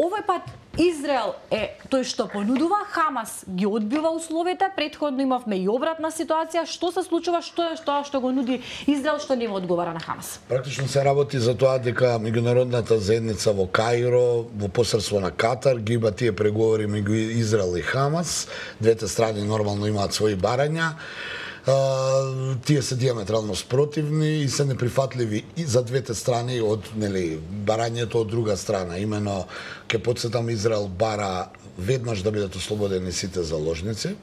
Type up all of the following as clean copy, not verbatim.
овој пат Израел е тој што понудува, Хамас ги одбива условите, претходно имавме и обратна ситуација. Што се случува, што е тоа што го нуди Израел, што нема одговара на Хамас? Практично се работи за тоа дека меѓународната заедница во Каиро, во посредство на Катар, ги има тие преговори меѓу Израел и Хамас. Двете страни нормално имаат своји барања. Тие се диаметрално спротивни и се неприфатливи и за двете страни од барањето од друга страна. Имено ќе потсетам, Израел бара веднаш да бидат ослободени сите заложници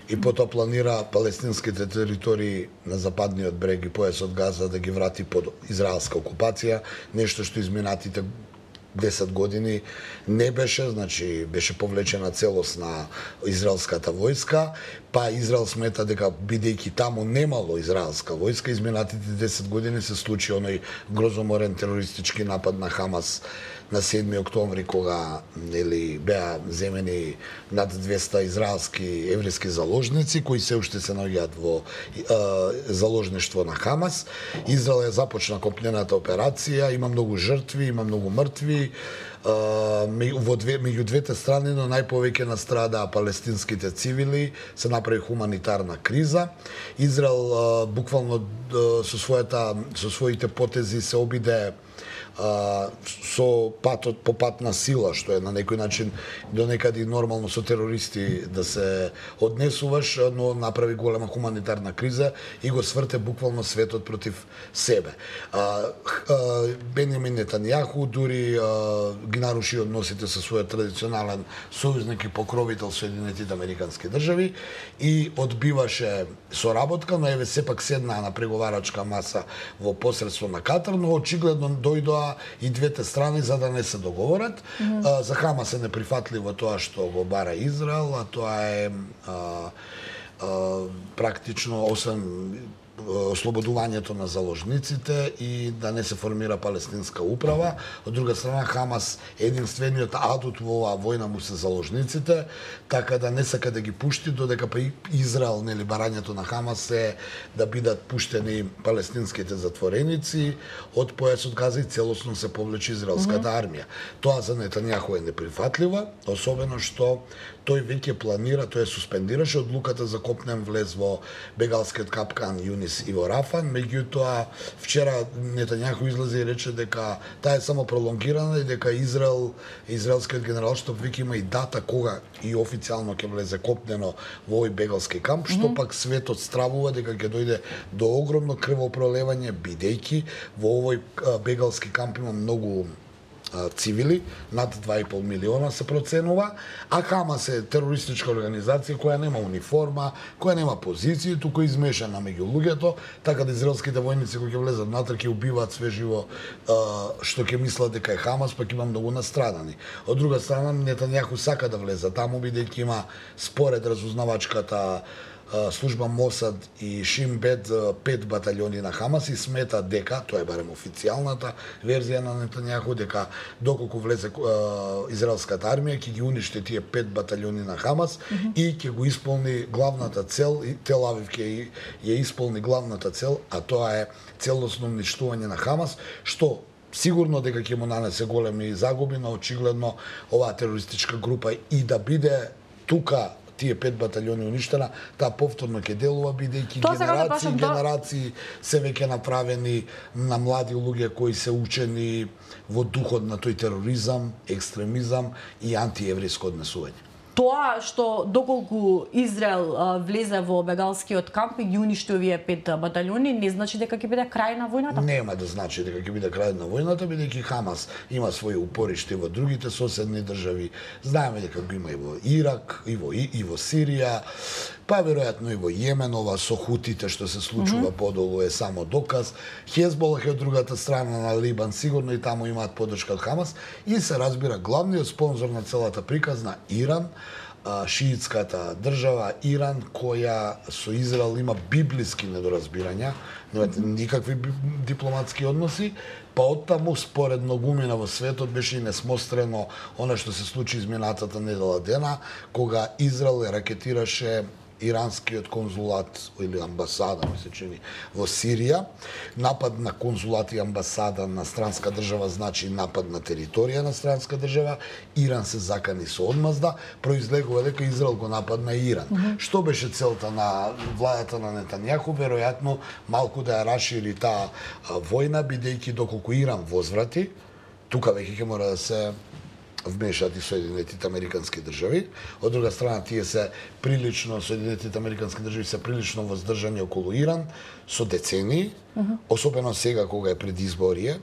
и потоа планира палестинските територии на западниот брег и појасот Газа да ги врати под израелска окупација, нешто што изминатите 10 години не беше, значи беше повлечена целосна израелската војска, па Израел смета дека бидејќи таму немало израелска војска, изминатите 10 години се случи оној грозоморен терористички напад на Хамас на 7 октомври, кога беа земени над 200 израелски еврејски заложници кои се уште се наоѓаат во заложништво на Хамас. Израел ја започна копнената операција, има многу жртви, има многу мртви. Меѓу двете страни, но најповеќе настрадаа палестинските цивили, се направи хуманитарна криза. Израел буквално со своите потези се обиде со по пат на сила, што е на некој начин до некаде нормално со терористи да се однесуваш, но направи голема хуманитарна криза и го сврте буквално светот против себе. Бенјамин Нетањаху дури ги наруши односите со својот традиционален сојузник и покровител Соединетите Американски држави и одбиваше соработка, но еве сепак седнаа на преговарачка маса во посредство на Катар, но очигледно дојдоа и двете страни за да не се договорат. За Хамас е неприфатливо тоа што го бара Израел, а тоа е практично, освен ослободувањето на заложниците и да не се формира палестинска управа. Од друга страна, Хамас е единствениот адут во оваа војна му се заложниците, така да не сака да ги пушти, додека па Израел, барањето на Хамас е да бидат пуштени палестинските затвореници од појасот Газа и целосно се повлече израелската армија. Тоа за Нетањаху е неприфатливо, особено што тој веќе планира, тој суспендираше одлуката за копнен влез во бегалскиот капкан Јунис и во Рафан, меѓутоа вчера Нетањаху излезе и рече дека таа е само пролонгирана и дека израелскиот генералштаб веќе има и дата кога и официјално ќе влезе копнено во овој бегалски камп, што пак светот стравува дека ќе дојде до огромно крвопролевање, бидејќи во овој бегалски камп има многу цивили, над 2,5 милиона се проценува, а Хамас е терористичка организација која нема униформа, која нема позиција, туку е измешана меѓу луѓето, така да израелските војници кои ќе влезат внатре ќе убиваат све живо што ќе мислат дека е Хамас, пак има многу настрадани. Од друга страна, Нетањаху сака да влезе таму, бидејќи има според разузнавачката служба Мосад и Шин Бет 5 батальони на Хамас и смета дека, тоа е барем официјалната верзија на Нетањаху, дека доколку влезе израелската армија ќе ги уништи тие 5 батальони на Хамас и ќе го исполни главната цел, и Тел Авив ќе ја исполни главната цел, а тоа е целосно уништување на Хамас, што сигурно дека ќе му нанесе големи загуби, но очигледно оваа терористичка група и да биде тука тие 5 батальони уништена, таа повторно ќе делува, бидејќи генерации се веќе направени на млади луѓе кои се учени во духот на тој тероризам, екстремизам и антиеврејско однесување. Тоа што доколку Израел влезе во бегалскиот камп и ги уништи овие 5 батальони, не значи дека ќе биде крај на војната? Нема да значи дека ќе биде крај на војната, бидејќи Хамас има своји упоришти во другите соседни држави. Знаеме дека го има и во Ирак, и во Сирија, па веројатно и во Јемен, ова со хутите што се случува подолу е само доказ. Хезболах е од другата страна на Либан, сигурно и таму имаат поддршка од Хамас и се разбира главниот спонзор на целата приказна Иран, шиитската држава Иран, која со Израел има библиски недоразбирања, никакви дипломатски односи, па оттаму според многумина во светот беше и несмострено она што се случи изминатата недела дена, кога Израел ракетираше иранскиот конзулат или амбасада, ми се чини, во Сирија. Напад на конзулат и амбасада на странска држава значи напад на територија на странска држава. Иран се закани со одмазда, произлегува дека Израел го нападна Иран. Што беше целта на владата на Нетањаху? Веројатно малку да ја расшири таа војна, бидејќи доколку Иран возврати, тука веќе ќе мора да се вмешаат и Соединетите Американски држави. Од друга страна, тие се прилично, Соединетите Американски држави се прилично воздржани околу Иран со децении, особено сега кога е предизборие,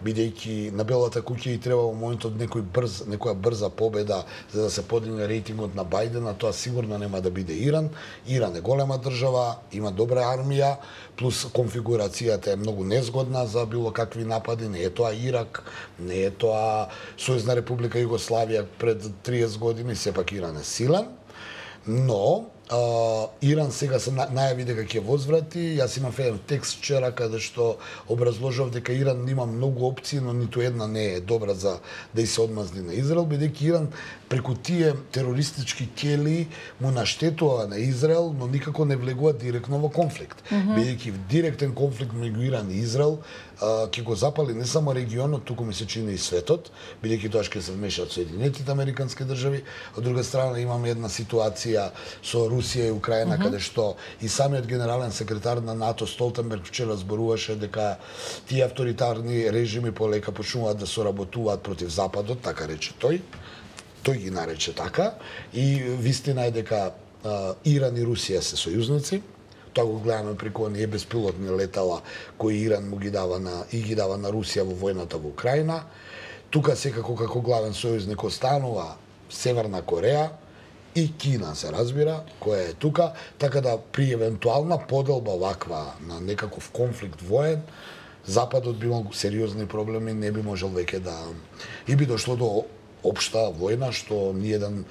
бидејќи на Белата куќа и треба во моментот некоја брза победа за да се подигне рейтингот на Бајден, а тоа сигурно нема да биде Иран. Иран е голема држава, има добра армија, плюс конфигурацијата е многу незгодна за било какви напади. Не е тоа Ирак, не е тоа Сојузна република Југославија пред 30 години, сепак Иран е силен, но Иран сега се најави дека ќе возврати. Јас имав еден текст вчера каде што образложав дека Иран има многу опции, но ниту една не е добра за да и се одмазни на Израел, бидејќи Иран преку тие терористички ќели му наштетува на Израел, но никако не влегува директно во конфликт. Бидејќи директен конфликт меѓу Иран и Израел ќе го запали не само регионот, туку ми се чини и светот, бидејќи тоа ќе се вмешаат Соединетите Американски држави. Од друга страна имаме една ситуација со Русија и Украина, каде што и самиот генерален секретар на НАТО Столтенберг вчера зборуваше дека тие авторитарни режими полека почнуваат да соработуваат против Западот, така рече тој. Тој ги нарече така. И вистина е дека Иран и Русија се сојузници. Тоа го гледаме преку оние беспилотни летала кои Иран му ги дава на Русија во војната во Украина. Тука секако како главен сојузник останува Северна Кореја и Кина, се разбира, која е тука, така да при евентуална поделба ваква на некаков конфликт воен, Западот би имал сериозни проблеми, не би можел веќе да и би дошло до општа војна, што ниеден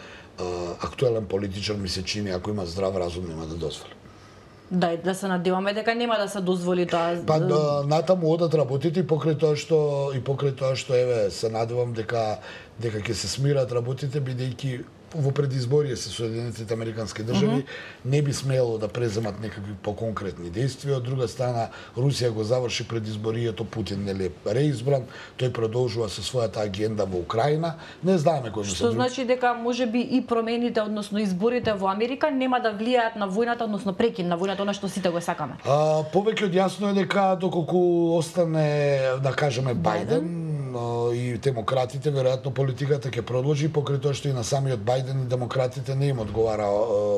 актуелен политичар ми се чини, ако има здрав разум, нема да дозволи. Да се надеваме дека нема да се дозволи тоа. Па натаму одат работите и покрај тоа што еве се надевам дека ќе се смират работите, бидејќи во предизборие се Соединетите Американски држави не би смело да преземат некакви поконкретни действија. Од друга страна, Русија го заврши предизборието, Путин нели реизбран, тој продолжува со својата агенда во Украина. Не знаеме кој што значи дека можеби и промените, односно изборите во Америка нема да влијаат на војната, односно прекин на војната, она што сите го сакаме. Повеќе од јасно е дека доколку остане, да кажеме, Бајден и демократите, веројатно политиката ќе продолжи, покрај тоа што и на самиот Бајден и демократите не им одговара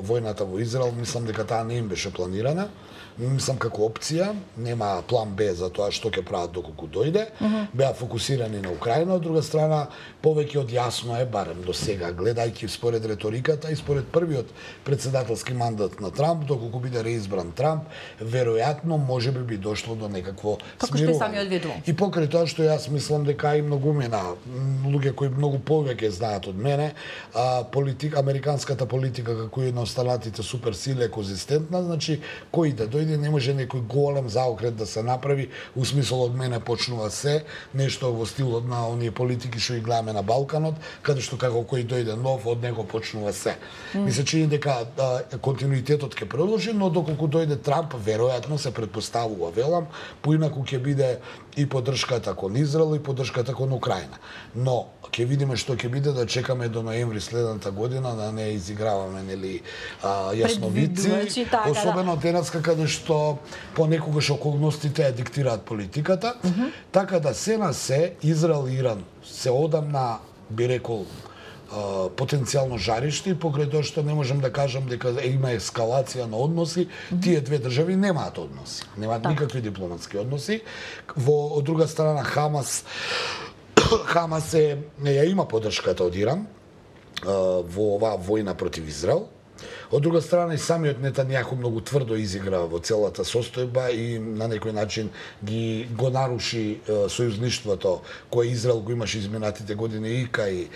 војната во Израел. Мислам дека таа не им беше планирана. Мислам како опција, нема план Б за тоа што ќе прават доколку дојде. Беа фокусирани на Украина. Од друга страна, повеќе од јасно е, барем до сега, гледајќи според реториката и според првиот председателски мандат на Трамп, доколку биде реизбран Трамп, веројатно можеби би дошло до некакво смирување. И покрај тоа што јас мислам дека и многумина луѓе кои многу повеќе знаат од мене, американската политика како и на останатите суперсили е конзистентна, значи кој да дојде не може некој голем заокрет да се направи, у смисол од мене почнува се, нешто во стилот на оние политики што ги гледаме на Балканот, каде што како кој дојде нов, од него почнува се. Ми се чини дека континуитетот ќе продолжи, но доколку дојде Трамп, веројатно се претпоставува, велам, поинаку ќе биде и поддршката кон Израел и поддршката кон Украина. Но ќе видиме што ќе биде, да чекаме до ноември следната година, да не изиграваме нели јасновици, особено денеска каде што понекогаш околностите ја диктираат политиката, така да се на се Израел и Иран се одамна, би рекол, потенцијално жариште, и покрај тоа што не можам да кажам дека има ескалација на односи, тие две држави немаат односи, немаат никакви дипломатски односи. Од друга страна, Хамас ја има поддршката од Иран во оваа војна против Израел. Од друга страна, и самиот Нетањаху многу тврдо изигра во целата состојба и на некој начин го наруши сојузништвото кое Израел го имаше изминатите години и кај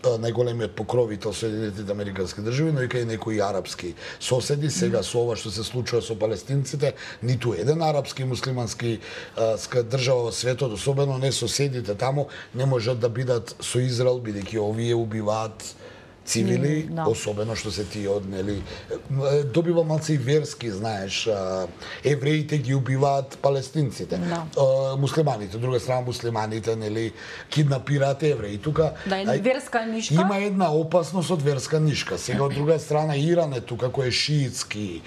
најголемиот покровител Соединетите Американски држави, но и кај некои арапски соседи. Сега со ова што се случува со палестинците, ниту еден арапски муслимански држава во светот, особено не соседите таму, не можат да бидат со Израел, бидејќи овие убиваат цивили, особено што се тие од, нели, добива малце и верски, знаеш, евреите ги убиваат палестинците, муслиманите, од друга страна муслиманите, нели, киднапираат евреи. Тука верска нишка. Има една опасност од верска нишка. Сега од друга страна Иран е тука кој е шиитски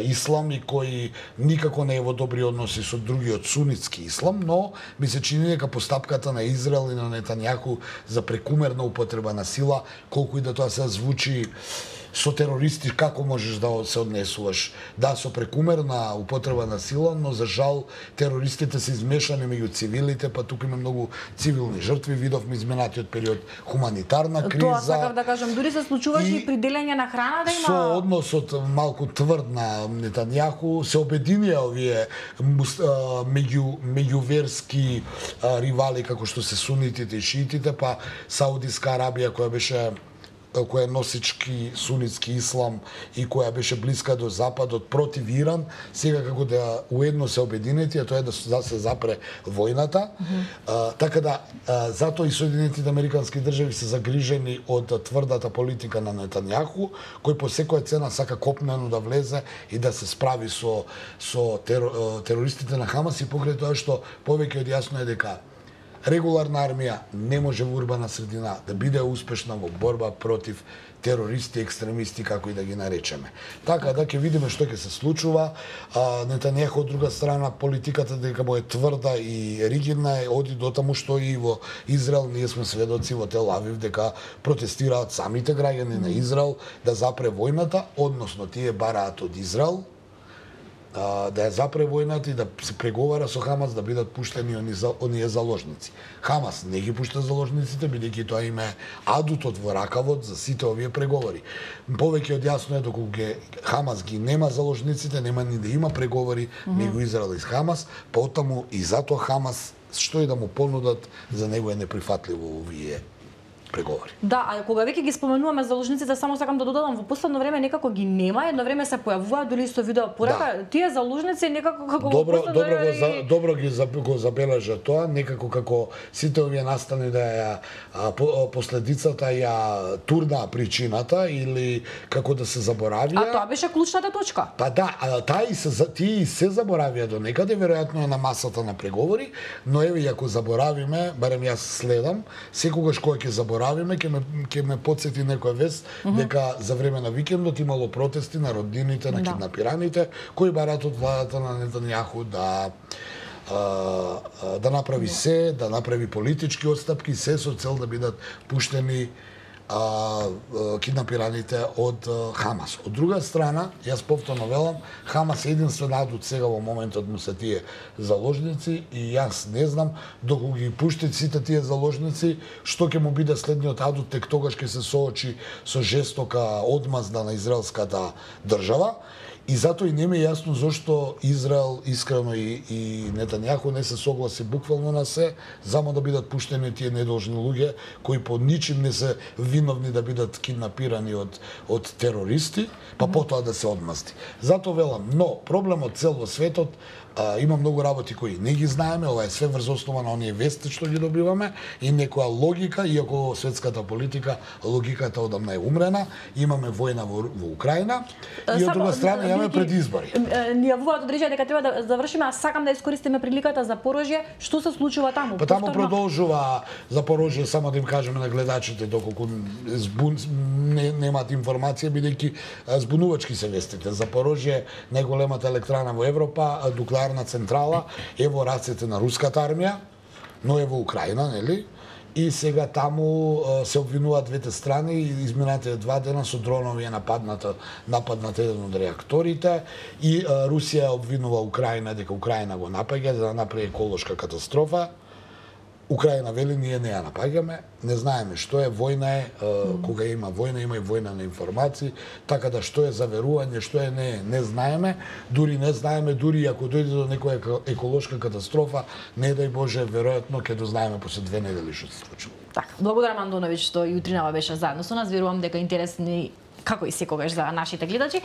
ислам и кој никако не е во добри односи со другиот сунитски ислам, но ми се чини дека постапката на Израел и на Нетањаху за прекумерна употреба на сила, колку и да тоа се звучи со терористи, како можеш да се однесуваш? Да, со прекумерна употреба на сила, но за жал терористите се измешани меѓу цивилите, па тука има многу цивилни жртви, видовме изминатиот период хуманитарна криза. Тоа сакав да кажам, дури се случуваше и при делење на храна да има. Со односот малку тврд на Нетањаху се обединија овие меѓуверски ривали како што се сунитите и шиитите, па Саудиска Арабија која е носички сунитски ислам и која беше блиска до Западот против Иран, сега како да уедно се обединети, а тоа е да се запре војната. Така да, затоа и Соединетите Американски држави се загрижени од тврдата политика на Нетањаху, кој по секоја цена сака копнено да влезе и да се справи со терористите на Хамас и покрај тоа што повеќе од јасно е дека регуларна армија не може во урбана средина да биде успешна во борба против терористи, екстремисти, како и да ги наречеме. Така да ќе видиме што ќе се случува. Нетањаху од друга страна политиката дека му е тврда и ригидна оди до таму што и во Израел ние сме сведоци во Тел Авив дека протестираат самите граѓани на Израел да запре војната, односно тие бараат од Израел да ја запре војната и да се преговара со Хамас да бидат пуштени оние заложници. Хамас не ги пушта заложниците, бидејќи тоа им е адутот во ракавот за сите овие преговори. Повеќе од јасно е доколку Хамас ги нема заложниците, нема ни да има преговори меѓу Израел и Хамас, потаму и затоа Хамас што и да му понудат за него е неприфатливо овие преговори. Да, а кога веќе ги споменуваме заложниците, само сакам да додадам, во последно време некако ги нема, едно време се појавуваат дури со видео порака, тие заложници некако како добро ги го забележа тоа, некако како сите овие настани да ја последицата ја турна причината или како да се заборавија. А тоа беше клучната точка. Па да, тие се заборавија до некаде, веројатно е на масата на преговори, но еве ако заборавиме, барем јас следам, секогаш кога ќе заборавиме, ќе ме потсети некоја вест дека за време на викендот имало протести на роднините на киднапираните кои бараат од владата на Нетањаху да направи се, да направи политички отстапки, се со цел да бидат пуштени киднапираните од Хамас. Од друга страна, јас повторно велам, Хамас е единствен адут сега во моментот му се тие заложници и јас не знам доколку ги пуштат сите тие заложници, што ќе му биде следниот адут, тек тогаш ќе се соочи со жестока одмазда на израелската држава. И затоа и не ми е јасно зошто Израел искрено и Нетањаху не се согласи буквално на се, само да бидат пуштени тие недолжни луѓе кои по ничим не се виновни да бидат киднапирани од терористи, па потоа да се одмазди. Затоа велам, но проблемот цел во светот има многу работи кои не ги знаеме, ова е све врз основа на оние вести што ги добиваме и некоја логика, иако светската политика, логиката одамна е умрена, имаме војна во Украина и од друга страна имаме предизбори. Ние во одрежа дека треба да завршиме, а сакам да искористиме приликата за Порожје, што се случува таму? Па таму продолжува за Порожје, само да им кажеме на гледачите доколку немаат информација, бидејќи збунувачки се вестите. За Порожје, најголемата електрана во Европа, нуклеарна централа е во рацете на руската армија, но е во Украина, нели? И сега таму се обвинуваат двете страни и изминатите 2 дена со дронови е нападнат еден од реакторите и Русија обвинува Украина дека Украина го напаѓа за да направи еколошка катастрофа. Украина вели ние не ја напаѓаме, не знаеме што е војна кога има и војна на информации, така да што е заверување, што е не знаеме, дури ако дојде до некоја еколошка катастрофа, не дај Боже, веројатно ќе дознаеме после 2 недели што се случува. Така, благодарам Андоновиќ што и утринава беше заедно со нас, верувам дека интересни како и секогаш за нашите гледачи.